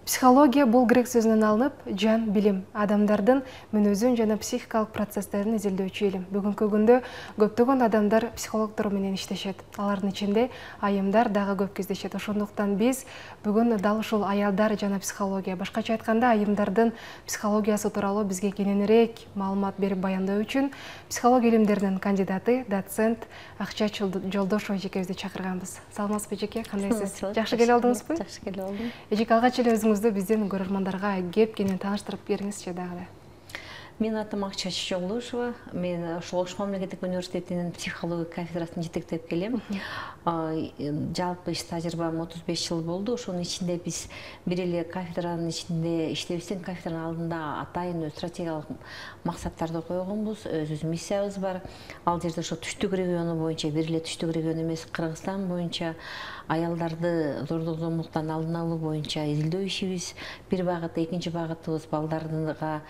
Психология бул грек сөзүнөн алынып, жан билим, адамдардын мүнөзүн жана психикалык процесстерин изилдөөчү илим. Бүгүнкү күндө көптөгөн адамдар психологдор менен иштешет. Алардын ичинде айымдар дагы көп кездешет. Ошондуктан биз бүгүн дал ушул аялдар жана психология, башкача айтканда айымдардын психологиясы тууралуу бизге кененирээк маалымат берип баяндоо үчүн психология илимдеринин кандидаты, доцент Акча Жолдошова эжекебизди чакырганбыз. Саламатсызбы эжеке, кандайсыз? Жакшы келип алдыңызбы? Жакшы келип алдым. Эжеке, алгач эле өзүңүздү биздин көрөрмандарга кеп кенен тааныштырып бериңизчи дагы. Менин атым Акча Жолдошова. Мен ошол Ош мамлекеттик университетинин психология кафедрасын жетектеп келем. Жалпы иш тажрыйбам 35 жыл болду. Ошонун ичинде биз бир эле кафедранын ичинде иштебестен кафедранын алдында атайын стратегиялык максаттарды койгонбуз. Өзүбүздүн миссиябыз бар. Ал жерде ошо түштүк региону боюнча, бир эле түштүк регион эмес, Кыргызстан боюнча аялдарды зордук зомбулуктан алдын алуу боюнча изилдөө ишибиз бир багыт, экинчи багытыбыз балдарга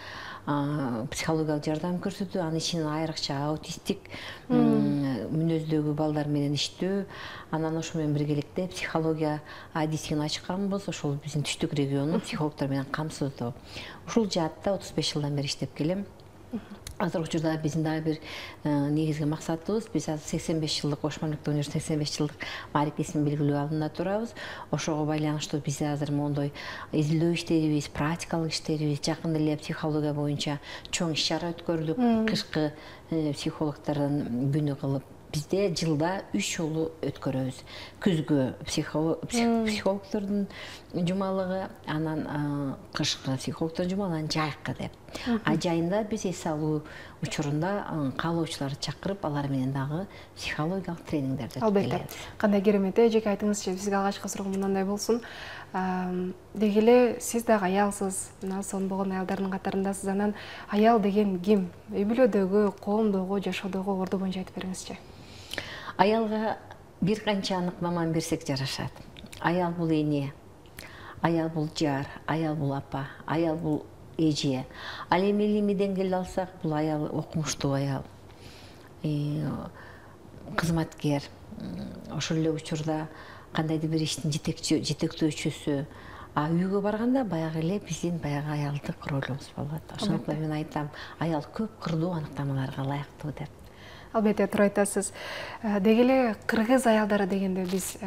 психологиялык жардам көрсөтүү, анын ичинен айрыкча аутисттик мүнөздөгү балдар менен иштөө. Анан ошо менен биргеликте психология адисин ачканбыз. Ошол биздин түштүк региону психологдор менен камсыздоо. Ушул жаатта 35 жылдан бери иштеп келем. Азыркы учурда биздин дагы бир негизги максатыбыз, биз азыр 85 жылдык Ош мамлекеттик университетинин 85 жылдык маарифесин белгилөө алдында турабыз. Ошого байланыштуу биз азыр моундай изилдөө иштерибиз, практикалык иштерибиз, жакында эле психология боюнча чоң иш-чара өткөрдүк. Кышкы психологдордун күнү кылып бизде жылда 3 жолу өткөрөбүз. Күзгө психологдордун жумалыгы, анан кышкы психологдордун жумалыгы, анан жайкы деп. Жайында биз эс алуу учурунда каалоочуларды чакырып, алар менен дагы психологиялык тренингдерди өткөрүп келебиз. Кандай керемет, эжеке, айтыңызчы, бизге алгачкы суроом мындай болсун. Деги эле сиз дагы аялсыз, мына сонбогон аялдардын катарындасыз. Анан аял деген ким? Үй бүлөдөгү, коомдогу, жашоодогу орду боюнча айтып бериңизчи. Аялга бир канча аныктаманы берсек жарашат. Аял бул эне, аял бул жар, аял бул апа, аял бул эже. Ал эми илимий деңгээлде алсак, бул аял окумуштуу аял, кызматкер, ошол эле учурда кандайдыр бир иштин жетектөөчүсү. Үйгө барганда баягы эле биздин баягы аялдык ролубуз болот. Ошондуктан мен айтам, аял көп кырдуу аныктамаларга ылайыктуу деп. Албетте, туура айтасыз. Деги эле кыргыз аялдары дегенде биз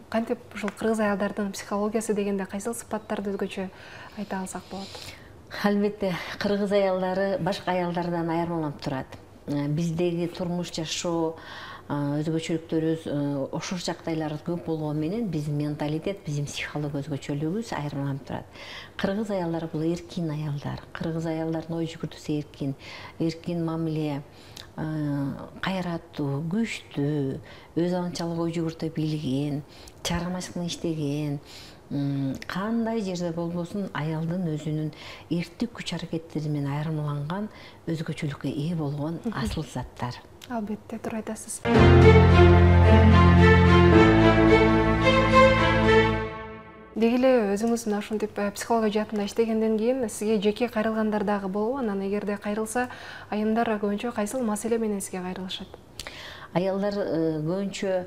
кантип ушул кыргыз аялдардын психологиясы дегенде кайсыл сыпаттарды өзгөчө айта алсак болот? Албетте, кыргыз аялдары башка аялдардан айырмаланып турат. Биздеги турмуш жашоо өзгөчөлүктөрүбүз, ошол жагдайлар көп болгону менен биздин менталитет, биздин психология өзгөчөлүгүбүз айырмаланып турат. Кыргыз аялдары бул эркин аялдар. Кыргыз аялдардын ой жүгүртүүсү эркин мамиле, кайраттуу, күчтүү, өз анчалык ой жүгүртө билген, чыгармачылык менен иштеген, кандай жерде болбосун аялдын өзүнүн эрктик күч аракеттери менен айырмаланган, өзгөчөлүккө ээ болгон асыл заттар. Албетте, туура айтасыз. Деги эле өзүңүз мына ушинтип психология жаатында иштегенден кийин сизге жеке кайрылгандар дагы болобу? Анан эгерде кайрылса, айымдар көбүнчө кайсыл маселе менен сизге кайрылышат? Аялдар көбүнчө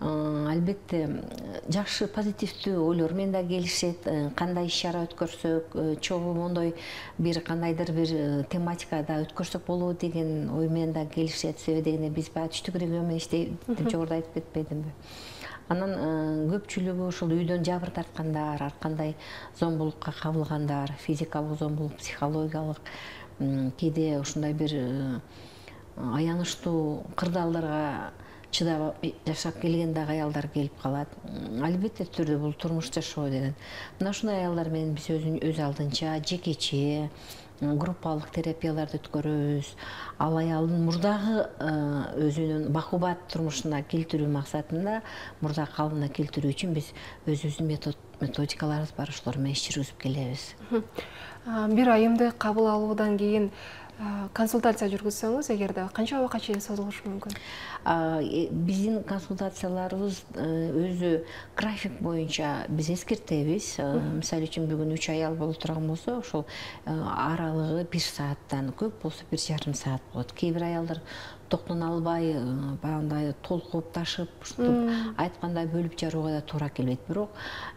албетте жакшы позитивдүү ойлор менен да келишет. Кандай иш-чара өткөрсөк, чогуу мондой бир кандайдыр бир тематикада өткөрсөк болобу деген ой менен да келишет. Себеби дегенде биз баягы түштүк регион менен иштейбиз деп жогоруда айтып кетпедимби? Анан көпчүлүгү ушул үйдөн жабыр тарткандар, ар кандай зомбулукка кабылгандар, физикалык зомбулук, психологиялык, кээде ушундай бир аянычтуу кырдаалдарга чыдап жашап келген дагы аялдар келип калат. Албетте түрдө бул турмуш жашоо деген. Мына ушундай аялдар менен биз өз алдынча жекече группалык терапияларды өткөрөбүз. Ал аялдын мурдагы өзүнүн бакубат турмушуна келтирүү максатында, мурда калыбына келтирүү үчүн биз өзүбүздүн методикаларыбыз бар, ошолор менен иш жүргүзүп келебиз. Бир айымды кабыл алуудан кийин консультация жүргүзсөңүз, эгерде канча убакытка чейин созулушу мүмкүн? Биздин консультацияларыбыз өзү график боюнча биз эскертебиз. Мисалы үчүн бүгүн 3 аял боло турган болсо, ошол аралыгы 1 сааттан, көп болсо 1,5 саат болот. Кээ бир аялдар токтоно албай баягындай толкуп ташып ушинтип айткандай бөлүп жарууга да туура келбейт. Бирок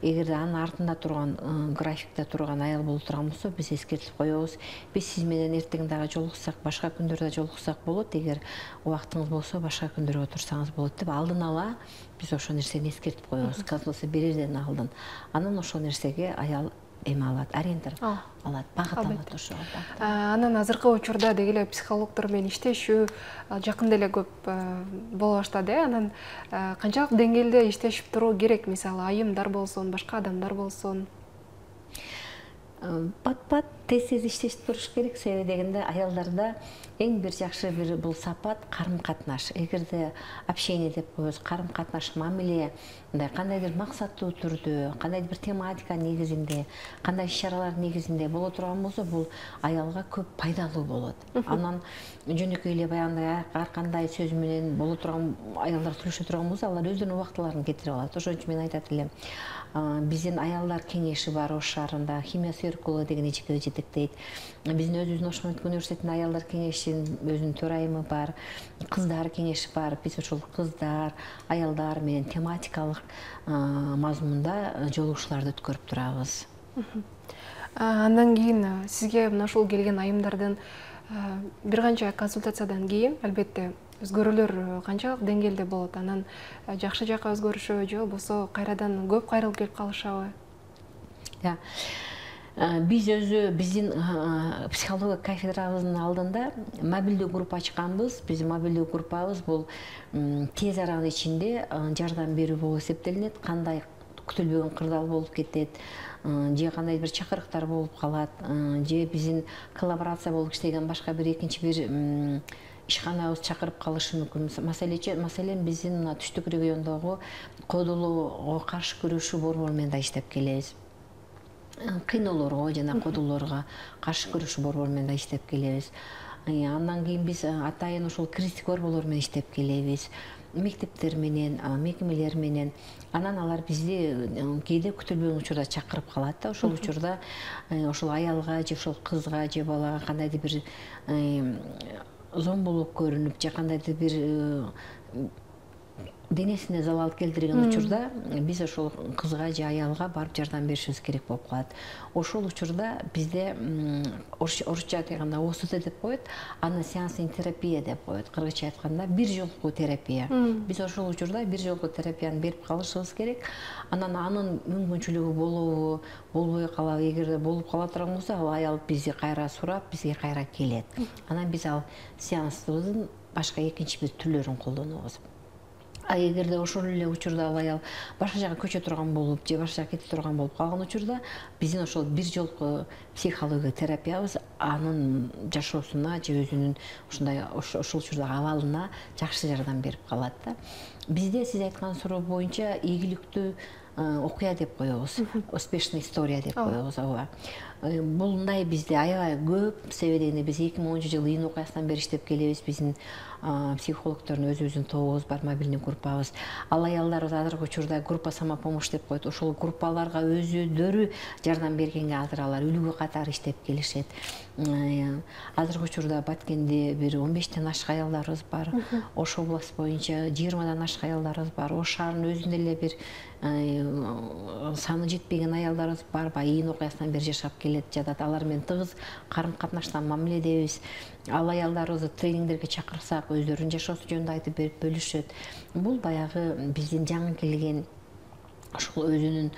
эгерде анын артында турган графикте турган аял боло турган болсо биз эскертип коебуз. Биз сиз менен эртең дагы жолуксак, башка күндөрдө жолуксак болот, эгер убактыңыз болсо башка күндөргө турсаңыз болот деп алдын ала биз ошол нерсени эскертип коебуз. Консультация берерден алдын. Анан ошол нерсеге аял эме алат, ориентир алат, багыт алат ошого. Анан азыркы учурда деги эле психологдор менен иштешүү жакында эле көп боло баштады. Анан канчалык деңгээлде иштешип туруу керек? Мисалы, айымдар болсун, башка адамдар болсун. Пат-пат тез-тез иштешип туруш керек. Себеби дегенде аялдарда эң бир жакшы бир бул сапат карым-катнаш. Эгерде общение деп коебуз, карым-катнаш, мамиле, мындай кандайдыр максаттуу түрдө, кандайдыр бир тематика негизинде, кандай иш-чаралар негизинде боло турган болсо, бул аялга көп пайдалуу болот. Анан жөнөкөй эле баягындай ар кандай сөз менен боло турган аялдар сүйлөшө турган болсо, алар өздөрүнүн убактыларын кетирип алат. Ошон үчүн мен айтат элем, биздин аялдар кеңеши бар Ош шаарында, химия циркулу деген ичкиде жетектейт. Биздин өзүбүздүн Ош мамлекеттик университетинин аялдар кеңешинин өзүнүн төрайымы бар, кыздар кеңеши бар. Биз ошол кыздар, аялдар менен тематикалык мазмунда жолугушууларды өткөрүп турабыз. Андан кийин сизге мына ушул келген айымдардын бир канча консультациядан кийин албетте өзгөрүүлөр канчалык деңгээлде болот? Анан жакшы жакка өзгөрүшөбү же болбосо кайрадан көп кайрылып келип калышабы? Биз өзү биздин психология кафедрабыздын алдында мобилдүү группа ачканбыз. Биздин мобилдүү группабыз бул тез аранын ичинде жардам берүү болуп эсептелинет. Кандай күтүлбөгөн кырдаал болуп кетет, же кандай бир чакырыктар болуп калат, же биздин коллаборация болуп иштеген башка бир экинчи бир ишканабыз чакырып калышы мүмкүн. Маселен биздин мына түштүк региондогу кодулууга каршы күрөшүү борбору менен да иштеп келебиз. Кыйноолорго жана кодулоорго каршы күрөшүү борбору менен да иштеп келебиз. Андан кийин биз атайын ошол кризистик борборлор менен иштеп келебиз. Мектептер менен, мекемелер менен. Анан алар бизди кээде күтүлбөгөн учурда чакырып калат да. Ошол учурда ошол аялга же ошол кызга же балага кандайдыр бир зомбулук көрүнүп, же кандайдыр бир денесине залал келтирген учурда биз ошол кызга же аялга барып жардам беришибиз керек болуп калат. Ошол учурда бизде орусча айтканда ОСТ деп коет, аны сеанстын терапия деп коет. Кыргызча айтканда бир жолку терапия. Биз ошол учурда бир жолку терапияны берип калышыбыз керек. Анан анын мүмкүнчүлүгү болобу, болбой калабы, эгерде болуп кала турган болсо, ал аял бизди кайра сурап, бизге кайра келет. Анан биз ал сеанстыбыздын башка экинчи бир түрлөрүн колдонобуз. Эгерде ошол эле учурда ал аял башка жака көчө турган болуп, же башка жака кете турган болуп калган учурда, биздин ошол бир жолку психология терапиябыз анын жашоосуна же өзүнүн ушундай ошол учурдагы абалына жакшы жардам берип калат да. Бизде сиз айткан суроо боюнча ийгиликтүү окуя деп коебуз, успешный история деп коебуз. Бул мындай бизде аябай көп. Себеби дегенде биз 2010-жылы июнь окуясынан бери иштеп келебиз. Биздин психологдордун өзүбүздүн тобубуз бар, мобилдүү группабыз. Ал аялдарыбыз азыркы учурда группа самопомощь деп коет. Ошол группаларга өзүдөрү жардам бергенге азыр алар үлгү катары иштеп келишет. Азыркы учурда Баткенде бир 15тен ашык аялдарыбыз бар. Ош область боюнча 20дан ашык аялдарыбыз бар. Ош шаарынын өзүндө эле бир саны жетпеген аялдарыбыз бар. Июнь окуясынан бери жашап келет, жатат. Алар менен тыгыз карым-катнаштан мамиледебиз. Ал аялдарыбызды тренингдерге чакырсак, өздөрүнүн жашоосу жөнүндө айтып берип бөлүшөт. Бул баягы биздин жаңы келген ошол өзүнүн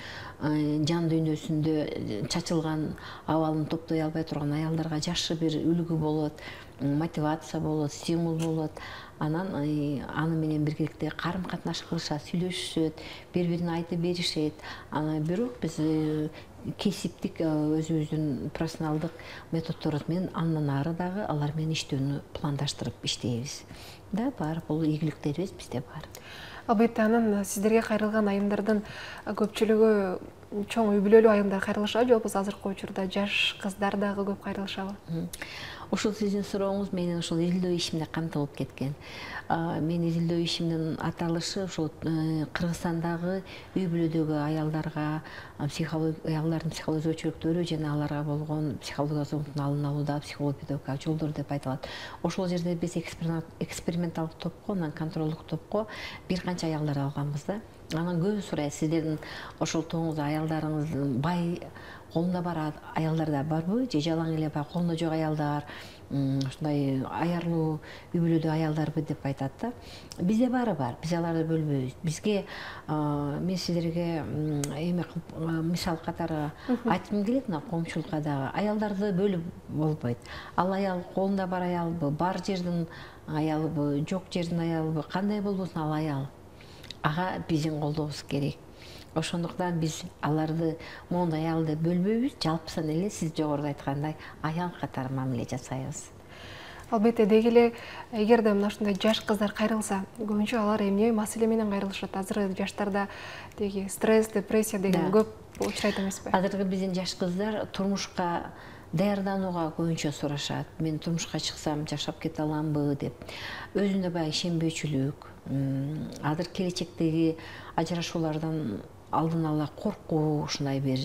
жан дүйнөсүндө чачылган абалын топтой албай турган аялдарга жакшы бир үлгү болот, мотивация болот, стимул болот. Анан аны менен биргеликте карым-катнаш кылышат, сүйлөшүшөт, бири-бирине айтып беришет. Бирок биз кесиптик өзүбүздүн профессионалдык методдорубуз менен андан ары дагы алар менен иштөөнү пландаштырып иштейбиз. Да, бар, бул ийгиликтерибиз бизде бар. Албетте, анан сиздерге кайрылган айымдардын көпчүлүгү чоң үй бүлөлүү айымдар кайрылышабы, же болбосо азыркы учурда жаш кыздар дагы көп кайрылышабы? Ушул сиздин сурооңуз менин ушул изилдөө ишимде камтылып кеткен. Мен изилдөө ишимдин аталышы ушул Кыргызстандагы үй бүлөдөгү аялдардын психологиялык өзгөчөлүктөрү жана аларга болгон психологиялык зомбулуктун алдын алууда психолог педагогикалык жолдор деп айтылат. Ошол жерде биз эксперименталдык топко, анан контролдук топко бир канча аялдар алганбыз да. Анан көбү сурайт, сиздердин ошол тооңуз аялдарыңыздын бай колунда бар аялдарда барбы, же жалаң эле баягы колунда жок аялдар, ушундай аярлуу үй бүлөдө аялдарбы деп айтат да. Бизде баары бар, биз аларды бөлбөйбүз. Бизге мен сиздерге эме мисал катары айткым келет, мына коомчулукка дагы аялдарды бөлүп болбойт. Ал аял колунда бар аялбы, бар жердин аялбы, жок жердин аялбы, кандай болбосун ал аял. Ага биздин колдообуз керек. Ошондуктан биз аларды моундай аял деп бөлбөйбүз, жалпысан эле сиз жогоруда айткандай аял катары мамиле жасайбыз. Албетте деги эле эгерде мына ушундай жаш кыздар кайрылса, көбүнчө алар эмне маселе менен кайрылышат? Азыркы жаштарда деги стресс, депрессия деген көп учурайт эмеспи? Азыркы биздин жаш кыздар турмушка даярданууга көбүнчө сурашат. Мен турмушка чыксам жашап кете аламбы деп. Өзүнө баягы ишенбөөчүлүк, азыр келечектеги ажырашуулардан алдын ала коркуу, ушундай бир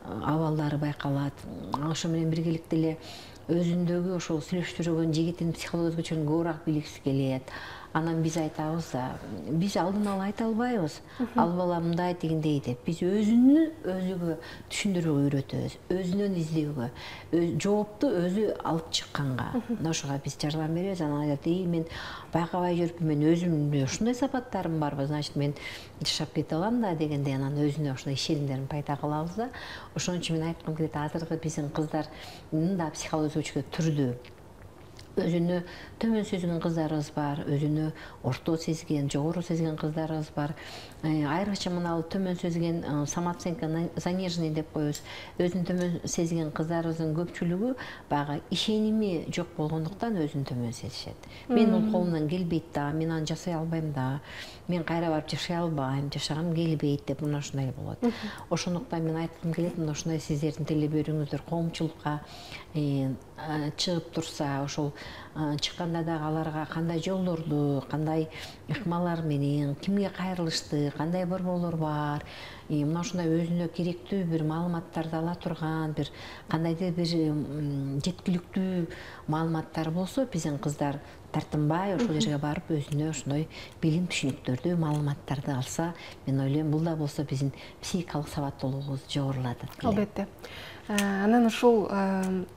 абалдары байкалат. Ошо менен биргеликте эле өзүндөгү ошол сүйлөшүп жүргөн жигитин психологиялык өзгөчөлүгүн көбүрөөк билгиси келет. Анан биз айтабыз да, биз алдын ала айта албайбыз. Ал бала мындай дегендей деп. Биз өзүгө түшүндүрүүгө үйрөтөбүз, өзүнөн издөөгө, жоопту өзү алып чыкканга. Ошого биз жардам беребиз. Анан айтат, мен байкабай жүрүп, мен өзүмдө ушундай сапаттарым барбы, значит мен жашап кете алам да дегендей, анан өзүнө ошондой ишенимдерин пайда кылабыз да. Ошон үчүн мен айткым келет, азыркы биздин кыздардын да психологиялык өзгөчөлүгү түрдүү. Өзүнө төмөн сезген кыздарыбыз бар, өзүнө орто сезген, жогору сезген кыздарыбыз бар. Айрыкча мына төмөн сезген самооценка заниженный деп коебуз. Өзүн төмөн сезген кыздарыбыздын көпчүлүгү баягы ишеними жок болгондуктан өзүн төмөн сезишет. Мен бул колумдан келбейт да, мен аны жасай албайм да, мен кайра барып жашай албайм, жашагым келбейт деп мына ушундай болот. Ошондуктан мен айткым келет, мына ушундай сиздердин телебөрүүңүздөр коомчулукка чыгып турса, ошол чыкканда дагы аларга кандай жолдорду, кандай ыкмалар менен, кимге кайрылышты, кандай борборлор бар, мына ушундай өзүнө керектүү бир маалыматтарды ала турган, бир кандайдыр бир жеткиликтүү маалыматтар болсо, биздин кыздар тартынбай ошол жерге барып өзүнө ошондой билим түшүнүктөрдү, маалыматтарды алса, мен ойлойм, бул да болсо биздин психикалык сабаттуулугубузду жогорулатат. Албетте. Анан ушул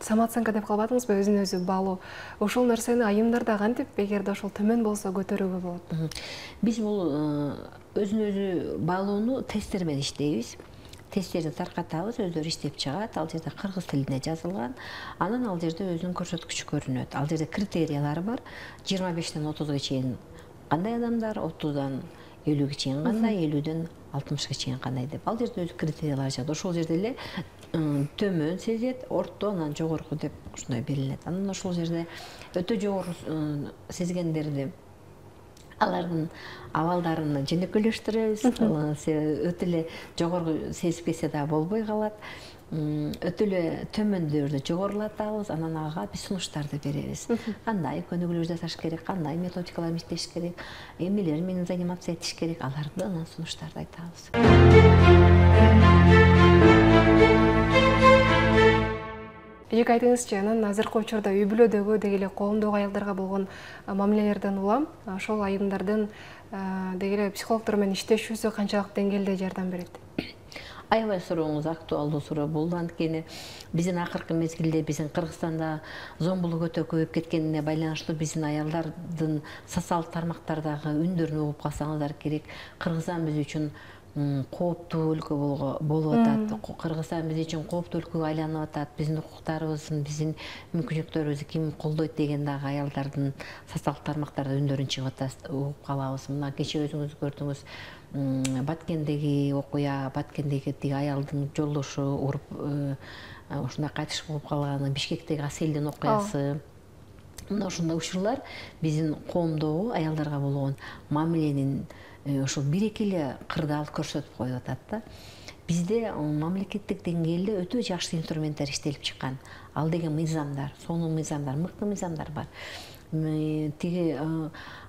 самооценка деп калбадыңызбы, өзүн өзү баалоо. Ошол нерсени айымдарда кантип, эгерде ошол төмөн болсо көтөрүүгө болот? Биз бул өзүн өзү баалоону тесттер менен иштейбиз. Тесттерди таркатабыз, өздөрү иштеп чыгат. Ал жерде кыргыз тилинде жазылган. Анан ал жерде өзүнүн көрсөткүчү көрүнөт. Ал жерде критериялары бар. 25ден 30га чейин кандай адамдар, 30дан 50ге чейин кандай, 50ден 60га чейин кандай деп. Ал жерде өзү критериялар жазат. Ошол жерде эле төмөн сезет, орто, анан жогорку деп ушундай берилет. Анан ошол жерде өтө жогору сезгендерди алардын абалдарын жөнөкөйлөштүрөбүз. Өтө эле жогору сезип кетсе да болбой калат. Өтө эле төмөндөрдү жогорулатабыз, анан ага биз сунуштарды беребиз. Кандай көнүгүүлөр жасаш керек, кандай методикалар иштеш керек, эмнелер менен заниматься этиш керек, аларды анан сунуштарды айтабыз. Эки айтыңызчы, анан азыркы учурда үй бүлөдөгү деги эле коомдогу аялдарга болгон мамилелерден улам ошол айымдардын деги эле психологдор менен иштешүүсү канчалык деңгээлде жардам берет? Аябай сурооңуз актуалдуу суроо болду. Анткени биздин акыркы мезгилде биздин Кыргызстанда зомбулук өтө көбөйүп кеткенине байланыштуу биздин аялдардын социалдык тармактардагы үндөрүн угуп калсаңыздар керек. Кыргызстан биз үчүн кооптуу өлкө болуп атат. Кыргызстан биз үчүн кооптуу өлкөгө айланып атат. Биздин укуктарыбыздын, биздин мүмкүнчүлүктөрүбүздү ким колдойт деген дагы аялдардын социалдык тармактарда үндөрүн чыгып атат, угуп калабыз. Мына кечээ өзүңүз көрдүңүз, Баткендеги окуя, Баткендеги тиги аялдын жолдошу уруп ушундай кайтыш болуп калганы, Бишкектеги Аселдин окуясы. Мына ушундай учурлар биздин коомдогу аялдарга болгон мамиленин ошол бир-эки эле кырдаал көрсөтүп коюп атат да. Бизде мамлекеттик деңгээлде өтө жакшы инструменттер иштелип чыккан. Ал деген мыйзамдар, сонун мыйзамдар, мыкты мыйзамдар бар. Тиги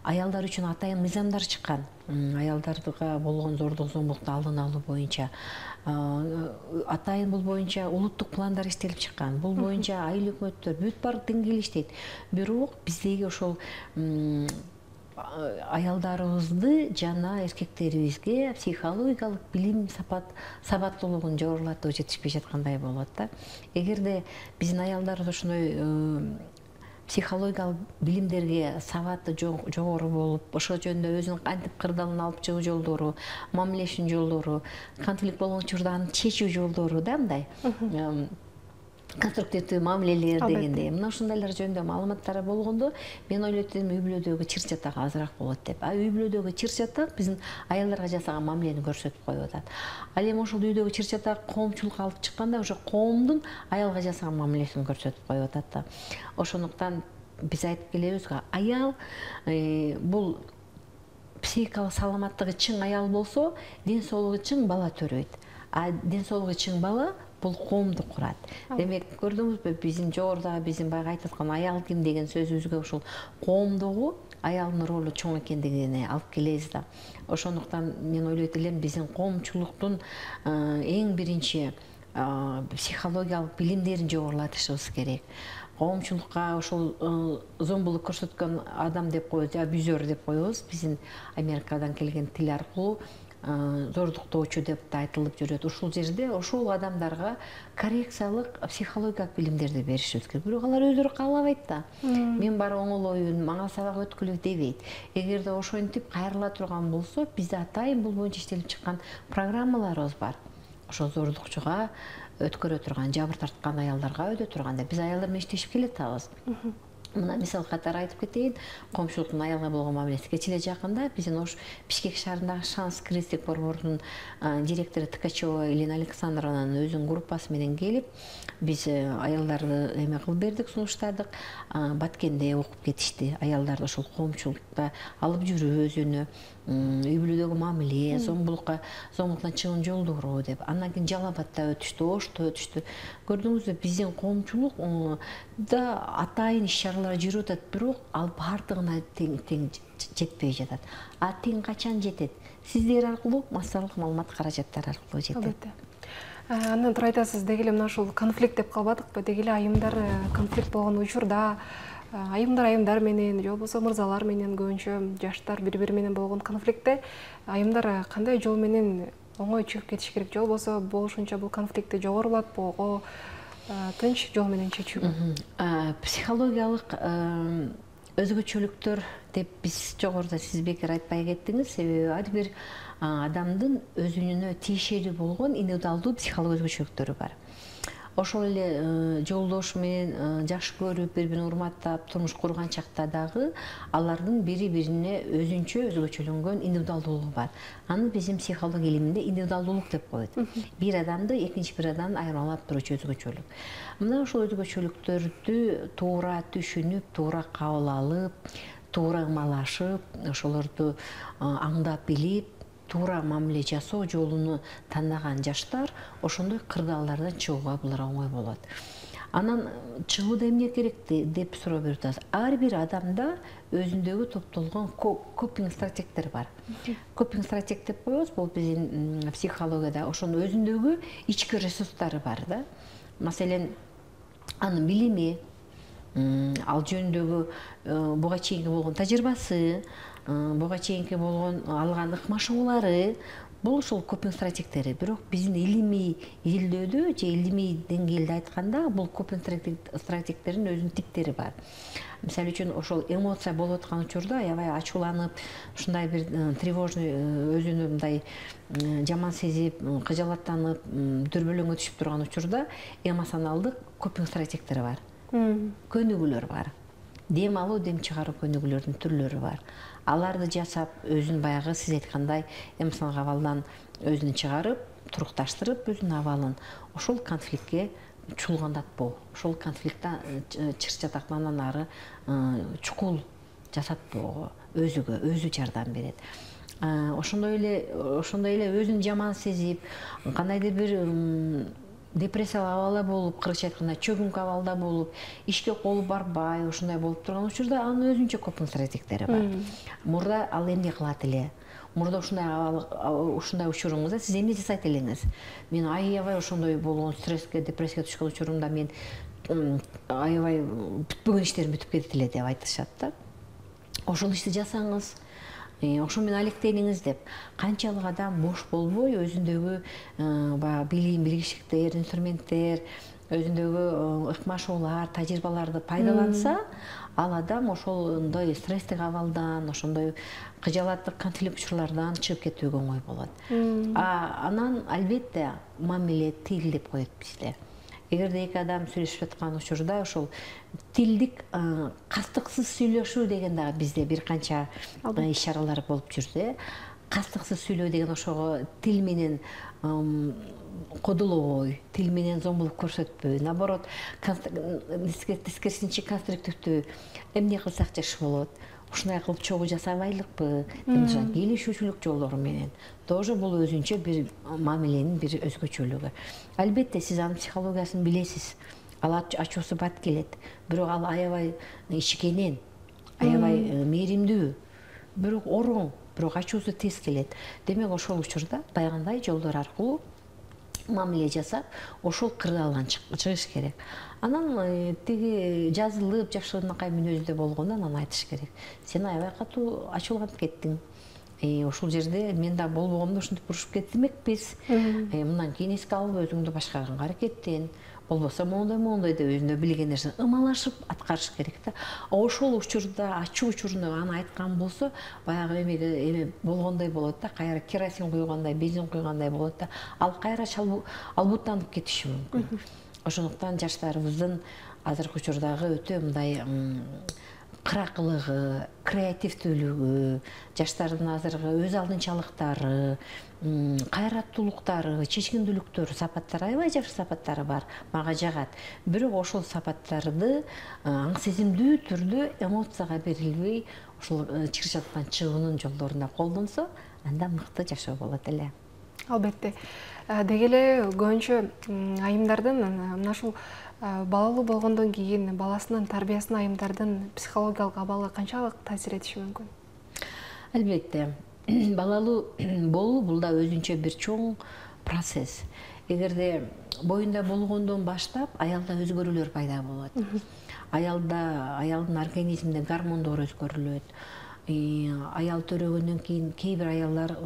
аялдар үчүн атайын мыйзамдар чыккан. Аялдарга болгон зордук зомбулукту алдын алуу боюнча атайын бул боюнча улуттук пландар иштелип чыккан. Бул боюнча айыл өкмөттөр бүт баардык деңгээл иштейт. Бирок биздеги ошол аялдарыбызды жана эркектерибизге психологиялык билим сабаттуулугун жогорулатуу жетишпей жаткандай болот да. Эгерде биздин аялдарыбыз ошондой психологиялык билимдерге сабаты жогору болуп, ошол жөнүндө өзүнүн кантип кырдаалын алып чыгуу жолдору, мамилешинин жолдору, конфликт болгон учурда аны чечүү жолдору да мындай конструктивдүү мамилелер дегендей. Мына ушундайлар жөнүндө маалыматтары болгондо мен ойлойт элем үй бүлөдөгү чыр-чатак азыраак болот деп. Үй бүлөдөгү чыр-чатак биздин аялдарга жасаган мамилени көрсөтүп коюп атат. Ал эми ошол үйдөгү чыр-чатак коомчулукка алып чыкканда ошо коомдун аялга жасаган мамилесин көрсөтүп коюп атат да. Ошондуктан биз айтып келебиз го, аял бул психикалык саламаттыгы чың аял болсо, ден соолугу чың бала төрөйт. А ден соолугу чың бала бул коомду курат. Демек, көрдүңүзбү, биздин жогорудагы биздин баягы айтып аткан аял ким деген сөзүбүзгө ушул коомдогу аялдын ролу чоң экендигине алып келебиз да. Ошондуктан мен ойлойт элем биздин коомчулуктун эң биринчи психологиялык билимдерин жогорулатышыбыз керек. Коомчулукка ошол зомбулук көрсөткөн адам деп коебуз, абьюзер деп коебуз. Биздин Америкадан келген тил аркылуу зордуктоочу деп да айтылып жүрөт. Ушул жерде ошол адамдарга коррекциялык психологиялык билимдерди беришибиз керек. Бирок алар өздөрү каалабайт да. Мен бар оңолоюн, мага сабак өткүлө дебейт. Эгерде ошентип кайрыла турган болсо, бизде атайын бул боюнча иштелип чыккан программаларыбыз бар. Ошол зордукчуга өткөрө турган, жабыр тарткан аялдарга өтө турганда биз аялдар менен иштешип келатабыз. Мына мисал катары айтып кетейин, коомчулуктун аялга болгон мамилеси. Кечээ эле жакында биздин Ош Бишкек шаарындагы Шанс кризистик борборунун директору Ткачева Елена Александровнанын өзүнүн группасы менен келип, биз аялдарды эме кылып бердик, сунуштадык. Баткенде окуп кетишти. Аялдарды ошол коомчулукта алып жүрүү өзүнө, үй бүлөдөгү мамиле, зомбулуктан чыгуунун жолдору деп. Андан кийин Жалал Абадта өтүштү, Ошто өтүштү. Көрдүңүзбү, биздин коомчулук да атайын иш-чаралар жүрүп атат, бирок ал баардыгына тең жетпей жатат. А тең качан жетет? Сиздер аркылуу, массалык маалымат каражаттары аркылуу жетет. Андан тура айтасыз, деги эле мына ушул конфликт деп калбадыкпы? Деги эле айымдар конфликт болгон учурда айымдар менен же болбосо мырзалар менен көбүнчө жаштар бири-бири менен болгон конфликтте айымдар кандай жол менен оңой чыгып кетиш керек, же болбосо болушунча бул конфликтти жогорулатпоого тынч жол менен чечүүгө? Психологиялык өзгөчөлүктөр деп биз жогоруда сиз бекер айтпай кеттиңиз. Себеби ар бир адамдын өзүнө тиешелүү болгон индивидуалдуу психологиялык өзгөчөлүктөрү бар. Ошол эле жолдош менен жакшы көрүп, бири-бирин урматтап турмуш курган чакта дагы алардын бири-бирине өзүнчө өзгөчөлөнгөн индивидуалдуулугу бар. Аны биздин психология илиминде индивидуалдуулук деп коет. Бир адамды экинчи бир адамдан айырмалап туручу өзгөчөлүк. Мына ошол өзгөчөлүктөрдү туура түшүнүп, туура кабыл алып, туура ымалашып, ошолорду аңдап билип, туура мамиле жасоо жолуну тандаган жаштар ошондой кырдаалдардан чыгууга булар оңой болот. Анан чыгууда эмне керек деп суроо берип атасыз. Ар бир адамда өзүндөгү топтолгон копинг стратегдер бар. Копинг стратег деп коебуз, бул биздин психологияда ошонун өзүндөгү ички ресурстары бар да. Маселен, анын билими, ал жөнүндөгү буга чейинки болгон тажрыйбасы, буга чейинки болгон алган ыкмашуулары, бул ошол копинг стратегдери. Бирок биздин илимий изилдөөдө же илимий деңгээлде айтканда бул копинг стратегдердин өзүнүн типтери бар. Мисалы үчүн ошол эмоция болуп аткан учурда аябай ачууланып, ушундай бир тревожный өзүнү мындай жаман сезип, кыжалаттанып, дүрбөлөңгө түшүп турган учурда эмоционалдык копинг стратегдери бар. Көнүгүүлөр бар. Дем алуу, дем чыгаруу көнүгүүлөрдүн түрлөрү бар. Аларды жасап, өзүн баягы сиз айткандай эмоционалдык абалдан өзүн чыгарып, турукташтырып, өзүнүн абалын ошол конфликтке чуулгандатпоо, ошол конфликттен чыр-чатактан ары чукул жасатпоого өзү жардам берет. ошондой эле өзүн жаман сезип, кандайдыр бир депрессиялык абалда болуп, кыргызча айтканда чөгүнкү абалда болуп, ишке колу барбай, ошондой болуп турган учурда анын өзүнчө копингс стратегиялери бар. Мурда ал эмне кылат эле? Мурда ушундай учуруңузда сиз эмне жасайт элеңиз? Мен аябай ошондой болгон стресске, депрессияга түшкөн учурумда мен аябай бүтпөгөн иштерим бүтүп кетет эле деп айтышат да. Ошол ишти жасаңыз, ошо менен алектениңиз деп. Канчалык адам бош болбой өзүндөгү баягы билим, билгичтиктер, инструменттер, өзүндөгү ыкмашуулар, тажрыйбаларды пайдаланса, ал адам ошондой стресстик абалдан, ошондой кыжаалаттык конфликт учурлардан чыгып кетүүгө оңой болот. Анан албетте мамиле, тил деп коет бизде. Эгерде эки адам сүйлөшүп жаткан учурда ошол тилдик кастыксыз сүйлөшүү деген дагы бизде бир канча ишаралар болуп жүрдү. Кастыксыз сүйлөө деген ошого тил менен кодулобой, тил менен зомбулук көрсөтпөй, наоборот, тескерисинче конструктивдүү эмне кылсак жакшы болот, ушундай кылып чогуу жасабайлыкпы, келишүүчүлүк жолдору менен. Тоже бул өзүнчө бир мамиленин бир өзгөчөлүгү. Албетте сиз анын психологиясын билесиз. Ал ачуусу бат келет, бирок ал аябай ичкенен, аябай мээримдүү, бирок ороң, бирок ачуусу тез келет. Демек ошол учурда баягындай жолдор аркылуу мамиле жасап, ошол кырдаалдан чыгыш керек. Анан тиги жазылып, жакшынакай мүнөздө болгондо анан айтыш керек. Сен аябай катуу ачууланып кеттиң. Ошол жерде мен да болбогомдо ушинтип урушуп кетмекпиз. Мындан кийин эске алып өзүңдү башкарганга аракеттен. Болбосо моундай деп өзүнө билген нерсени ымалашып аткарыш керек да. Ошол учурда, ачуу учурунда аны айткан болсо, баягы эме болгондой болот да, кайра керосин куйгандай, бензин куйгандай болот да. Ал кайра албуттанып кетиши мүмкүн. Ошондуктан жаштарыбыздын азыркы учурдагы өтө мындай кыракылыгы, креативдүүлүгү, жаштардын азыркы өз алдынчалыктары, кайраттуулуктары, чечкиндүүлүктөр, сапаттары, аябай жакшы сапаттары бар, мага жагат. Бирок ошол сапаттарды аң сезимдүү түрдө эмоцияга берилбей, ошол чыр-чатыктан чыгуунун жолдорунда колдонсо, анда мыкты жашоо болот эле. Албетте. Деги эле көбүнчө айымдардын мына ушул балалуу болгондон кийин баласынын тарбиясына айымдардын психологиялык абалы канчалык таасир этиши мүмкүн? Албетте. Балалуу болуу бул да өзүнчө бир чоң процесс. Эгерде боюнда болгондон баштап аялда өзгөрүүлөр пайда болот. Аялдын организминде гормондор өзгөрүлөт. Аял төрөгөндөн кийин кээ бир аялдар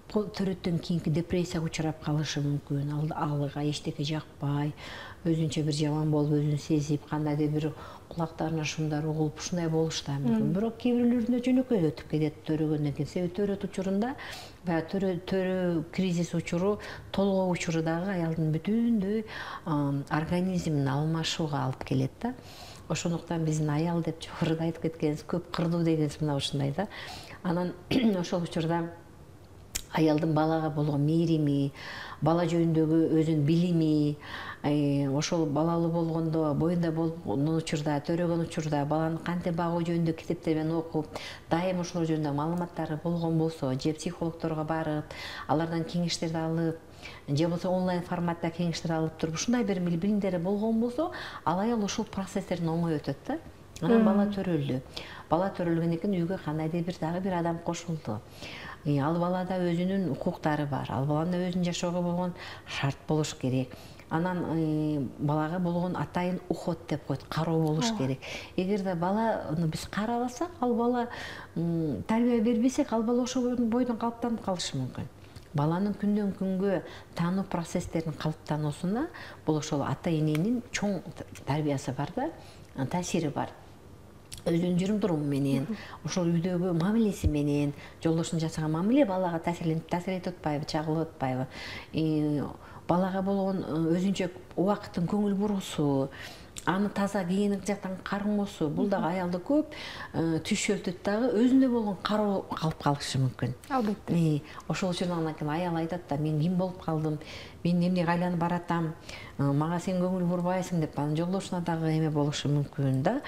төрөттөн кийинки депрессияга учурап калышы мүмкүн. Алга эчтеке жакпай, өзүнчө бир жаман болуп өзүн сезип, кандайдыр бир кулактарына шумдар угулуп, ушундай болуш да мүмкүн. Бирок кээ бирлөрүндө жөнөкөй өтүп кетет төрөгөндөн кийин. Себеби төрөт учурунда баягы төрө кризис учуру, толгоо учуру дагы аялдын бүтүндөй организмин алмашууга алып келет да. Ошондуктан биздин аял деп жогоруда айтып кеткенибиз көп кырдуу дегенибиз мына ушундай да. Анан ошол учурда аялдын балага болгон мээрими, бала жөнүндөгү өзүнүн билими, ошол балалуу болгондо, боюнда болгон учурда, төрөгөн учурда баланы кантип багуу жөнүндө китептерин окуп, дайым ошол жөнүндө маалыматтары болгон болсо, же психологдорго барып, алардан кеңештерди алып, же болбосо онлайн форматта кеңештер алып туруп, ушундай бир билимдери болгон болсо, ал аял ошол процесстерден оңой өтөт да. Анан бала төрөлдү. Бала төрөлгөндөн кийин үйгө кандайдыр бир дагы бир адам кошулду. Ал балада өзүнүн укуктары бар. Ал баланын өзүнүн жашоого болгон шарт болуш керек. Анан балага болгон атайын уход деп коет, кароо болуш керек. Эгерде баланы биз карабасак, ал бала тарбия бербесек, ал бала ошол бойдон калыптанып калышы мүмкүн. Баланын күндөн күнгө таануу процесстеринин калыптануусуна бул ошол ата эненин чоң тарбиясы бар да, таасири бар. Өзүнүн жүрүм-туруму менен, ошол үйдөгү мамилеси менен, жолдошунун жасаган мамиле балага таасир этип атпайбы, чагылып атпайбы? Балага болгон өзүнчө убакыттын көңүл буруусу, аны таза гигиеник жактан кармоосу, бул дагы аялды көп түшөлтүт дагы, өзүндө болгон кароо калып калышы мүмкүн. Албетте. Ошол үчүн анан кийин аял айтат да, мен ким болуп калдым, мен эмнеге айланып баратам, мага сен көңүл бурбайсың деп, анын жолдошуна дагы эме болушу мүмкүн да.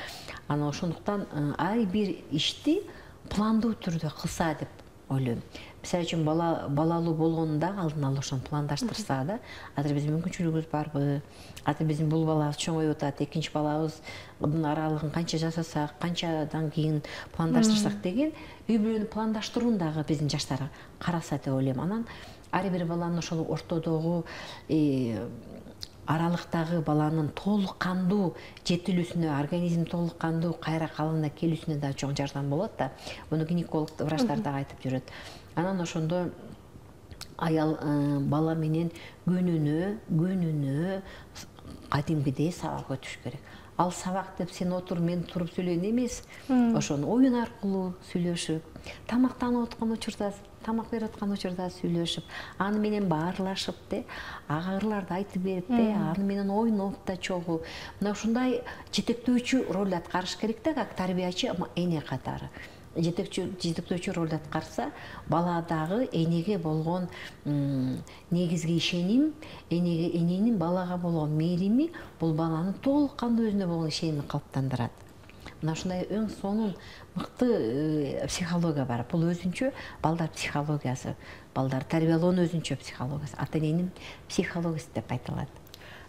Анан ошондуктан ар бир ишти пландуу түрдө кылса деп ойлойм. Мисалы үчүн балалуу болгонунда алдын ала ошону пландаштырса да, азыр биздин мүмкүнчүлүгүбүз барбы, азыр биздин бул балабыз чоңоюп атат, экинчи балабыздын аралыгын канча жасасак, канчадан кийин пландаштырсак деген үй бүлөнү пландаштырууну дагы биздин жаштар караса деп ойлойм. Анан ар бир баланын ошол ортодогу аралыктагы баланын толук кандуу жетилүүсүнө, организм толук кандуу кайра калыбына келүүсүнө да чоң жардам болот да. Муну гинеколог врачтар дагы айтып жүрөт. Анан ошондо аял бала менен күнүнө кадимгидей сабак өтүш керек. Ал сабак деп сен отур, мен туруп сүйлөйүн эмес. Ошону оюн аркылуу сүйлөшүп, тамактанып аткан учурда, тамак берип аткан учурда сүйлөшүп, аны менен баарлашып агырларды айтып берип аны менен ойноп да чогуу. Мына ушундай жетектөөчү роль аткарыш керек да, как тарбиячы эне катары. Жетектөөчү роль аткарса, бала дагы энеге болгон негизги ишеним, эненин балага болгон мээрими бул баланын толук кандуу өзүнө болгон ишенимин калыптандырат. Мына ушундай эң сонун мыкты психология бар. Бул өзүнчө балдар психологиясы, балдар тарбиялоонун өзүнчө психологиясы, ата эненин психологиясы деп айтылат.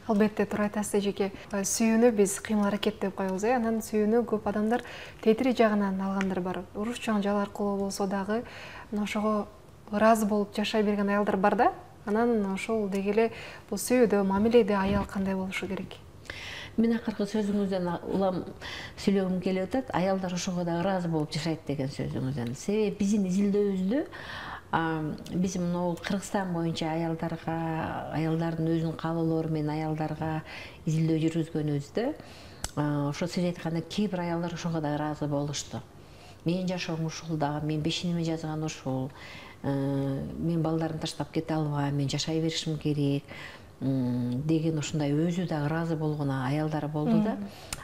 Албетте, туура айтасыз эжеке. Сүйүүнү биз кыймыл аракет деп коебуз, анан сүйүүнү көп адамдар тетири жагынан алгандар бар. Уруш жаңжал аркылуу болсо дагы ошого ыраазы болуп жашай берген аялдар бар да. Анан ошол деги эле бул сүйүүдө, мамиледе аял кандай болушу керек? Мен акыркы сөзүңүздөн улам сүйлөгүм келип атат. Аялдар ошого да ыраазы болуп жашайт деген сөзүңүздөн. Себеби биздин изилдөөбүздө биз мына Кыргызстан боюнча аялдардын өзүнүн каалоолору менен аялдарга изилдөө жүргүзгөнүбүздө, ошо сиз айткандай кээ бир аялдар ошого да ыраазы болушту. Менин жашоом ушул дагы, мен бешиниме жазган ушул, мен балдарымды таштап кете албайм, мен жашай беришим керек деген ушундай өзү да ыраазы болгон аялдар болду да.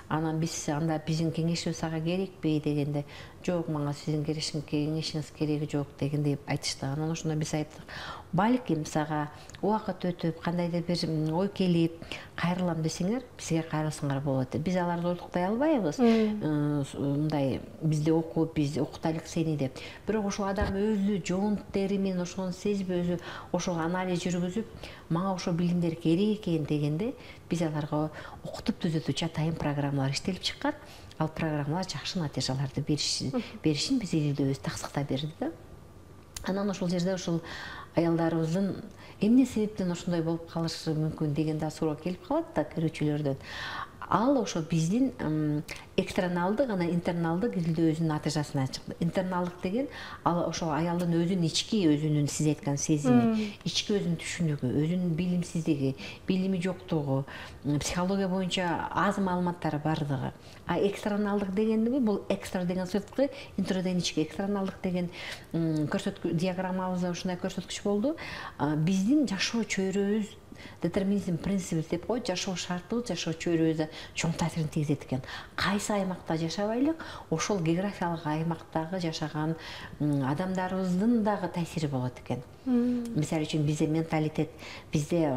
Анан биз анда биздин кеңешибиз ага керекпи дегенде, жок, мага сиздин кеңешиңиз кереги жок дегенде айтышты. Анан ошондо биз айттык, балким сага убакыт өтүп, кандайдыр бир ой келип, кайрылам десеңер, бизге кайрылсаңар болот деп. Биз аларды оруктуй албайбыз. Мындай бизде окуп, биз окутайлык сени деп. Бирок ошол адам өзү жон тери менен ошону сезип, өзү ошол анализ жүргүзүп, мага ошол билимдер керек экен дегенде, биз аларга окутуп түзөтүүчү атайын программалар иштелип чыккан. Ал программалар жакшы натыйжаларды беришин биз изилдөөбүз таксыктап берди да. Анан ошол жерде ошол аялдарыбыздын эмне себептен ошондой болуп калышы мүмкүн деген да суроо келип калат да көрүүчүлөрдөн. Ал ошо биздин экстерналдык, анан интерналдык изилдөөбүздүн натыйжасынан чыкты. Интерналдык деген ал ошо аялдын өзүнүн ички өзүнүн сиз айткан сезими, ички өзүнүн түшүнүгү, өзүнүн билимсиздиги, билими жоктугу, психология боюнча аз маалыматтары бардыгы. А экстерналдык дегенди бул экстра деген сырткы, интро деген ички. Экстерналдык деген диаграммабызда ушундай көрсөткүч болду. Биздин жашоо чөйрөбүз, детерминизм принциби деп коет, жашоо шартыбыз, жашоо чөйрөбүздө чоң таасирин тийгизет экен. Кайсы аймакта жашабайлык, ошол географиялык аймактагы жашаган адамдарыбыздын дагы таасири болот экен. Мисалы үчүн бизде менталитет, бизде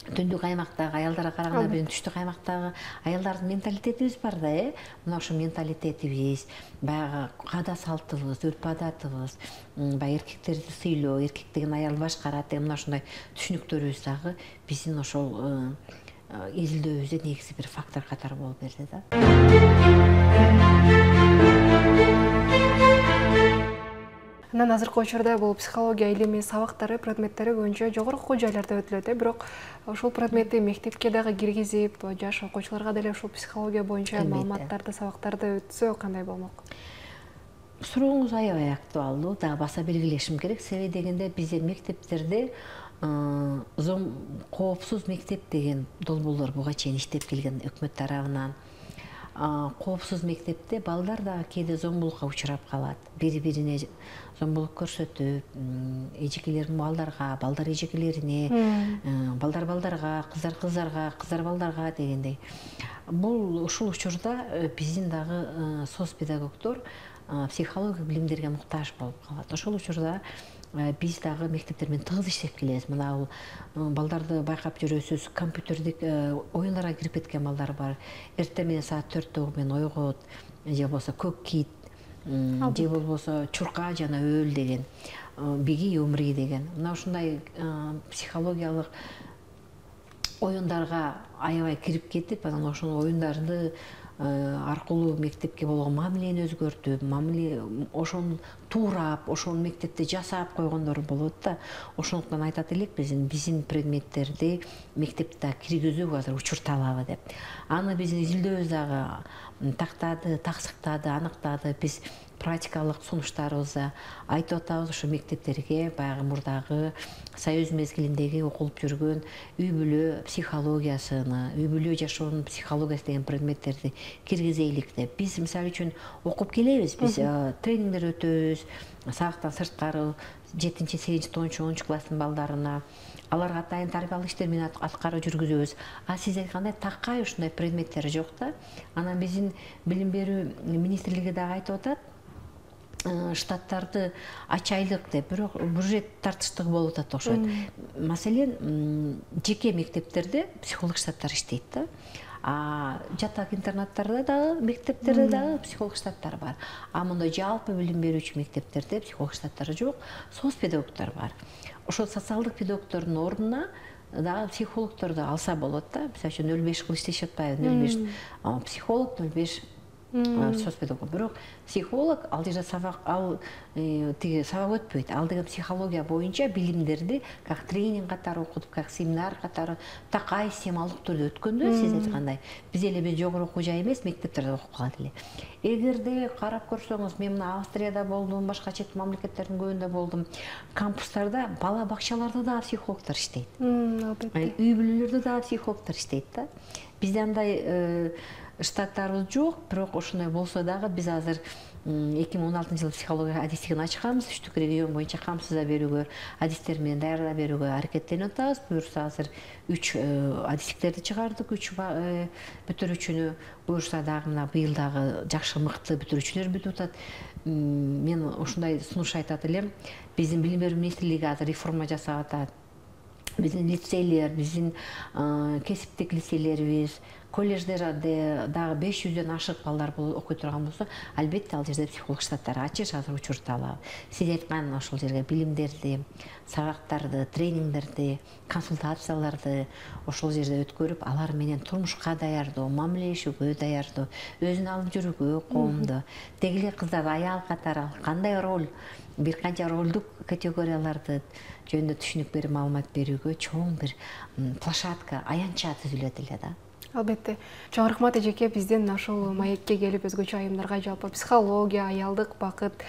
түндүк аймактагы аялдарга караганда биздин түштүк аймактагы аялдардын менталитетибиз бар да, мына ошо менталитетибиз, баягы каада салтыбыз, үрп адатыбыз, баягы эркектерди сыйлоо, эркек деген аялды башкарат деген мына ушундай түшүнүктөрүбүз дагы биздин ошол изилдөөбүздө негизи бир фактор катары болуп берди да. Анан азыркы учурда бул психология илими сабактары, предметтери боюнча жогорку окуу жайларда өтүлөт, бирок ошол предметти мектепке дагы киргизип, жаш окуучуларга деле ушул психология боюнча маалыматтарды, сабактарды өтсө кандай болмок? Сурооңуз аябай актуалдуу, дагы баса белгилешим керек. Себеби дегенде бизде мектептерде коопсуз мектеп деген долбоорлор буга чейин иштеп келген өкмөт тарабынан. Коопсуз мектепте балдар дагы кээде зомбулукка учурап калат. Бири-бирине зомбулук көрсөтүп, эжекелер балдарга, балдар эжекелерине, балдар балдарга, кыздар кыздарга, кыздар балдарга дегендей. Бул ушул учурда биздин дагы соцпедагогдор психология билимдерге муктаж болуп калат. Ошол учурда биз дагы мектептер менен тыгыз иштеп келебиз. Мына бул балдарды байкап жүрөсүз, компьютердик оюндарга кирип кеткен балдар бар. Эртең менен саат 4-тө менен ойгот, же болбосо көк кит, же болбосо чурка жана өөл деген, биги умри деген. Мына ушундай психологиялык оюндарга аябай кирип кетип, анан ошол оюндарды аркылуу мектепке болгон мамилени өзгөртүп, ошону туурап, ошону мектепте жасап койгондор болот да. Ошондуктан айтат элекпиз, биздин предметтерди мектепте киргизүү азыр учурталабы деп. Аны биздин изилдөөбүз дагы тактады, таксыктады, аныктады. Биз практикалык сунуштарыбызда айтып атабыз, ушу мектептерге баягы мурдагы Союз мезгилиндеги окулуп жүргөн үй бүлө психологиясыны, үй бүлө жашоонун психологиясы деген предметтерди киргизелик деп. Биз мисалы үчүн окуп келебиз, биз тренингдер өтөбүз, сабактан сырткары 7-8, 9-10 класстын балдарына, аларга атайын тарбиялык иштер менен аткарып жүргүзөбүз. А сиз айткандай такай ушундай предметтер жок да. Анан биздин билим берүү министрлиги дагы айтып атат, штаттарды ачайлык деп, бирок бюджет тартыштыгы болуп атат окшойт. Маселен, жеке мектептерде психолог штаттар иштейт да. Жатак интернаттарда дагы, мектептерде дагы психолог штаттар бар. А мындай жалпы билим берүүчү мектептерде психолог штаттары жок, соцпедагогдор бар. Ошол социалдык педагогдордун ордуна дагы психологдорду алса болот да. Мисалы үчүн 0,5 кылып иштешип атпайбы? 0,5 психолог, 0,5 соцпедагог. Бирок психолог ал жерде сабак өтпөйт. Ал деген психология боюнча билимдерди как тренинг катары окутуп, как семинар катары такай системалык түрдө өткөндө, сиз айткандай, биз жогору окуу жай эмес, мектептерде окуп калат эле. Эгерде карап көрсөңүз, мен мына Австрияда болдум, башка чет мамлекеттердин көбүндө болдум. Кампустарда, бала бакчаларда да психологдор иштейт. Үй бүлөлөрдө да психологдор иштейт да. Бизде андай штаттарыбыз жок, бирок ошондой болсо дагы биз азыр 2016-жылы психология адистигин ачканбыз, 3 регион боюнча камсызда берүүгө, адистер менен даярдап берүүгө аракеттенип атабыз. Буюрса азыр 3 адистиктерди чыгардык, 3 бүтүрүүчүнү. Буюрса дагы мына быйыл дагы жакшы мыкты бүтүрүүчүлөр бүтүп атат. Мен ушундай сунуш айтат элем, биздин билим берүү министрлиги азыр реформа жасап атат. Биздин лицейлер, биздин кесиптик лицейлерибиз, колледждерде дагы 500дөн ашык балдар окуй турган болсо, албетте ал жерде психолог штаттары ачыш азыр учурталабы. Сиз айткан ошол жерге билимдерди, сабактарды, тренингдерди, консультацияларды ошол жерде өткөрүп, алар менен турмушка даярдоо, мамилелешүүгө даярдоо, өзүн алып жүрүүгө коомдо, деги эле кыздарды аял катары кандай роль, бир канча ролдук категорияларды жөнүндө түшүнүк берип маалымат берүүгө чоң бир площадка, аянтча түзүлөт эле да. Албетте. Чоң рахмат эжеке, бизден ушул маекке келип өзгөчө айымдарга жалпы психология, аялдык бакыт,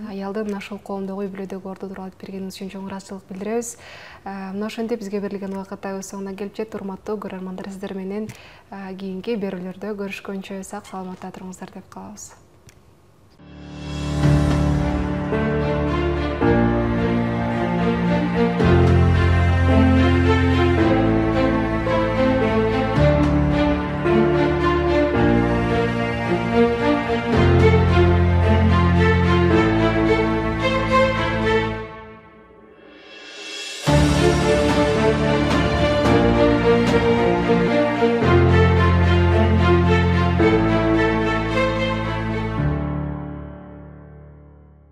аялдын ушул коомдогу үй бүлөдөгү орду тууралуу айтып бергениңиз үчүн чоң ыраазычылык билдиребиз. Мына ошентип бизге берилген убакыт өз соңуна келип жетти. Урматтуу көрөрмандар, сиздер менен кийинки берүүлөрдө көрүшкөнчө сак саламатта туруңуздар деп калабыз.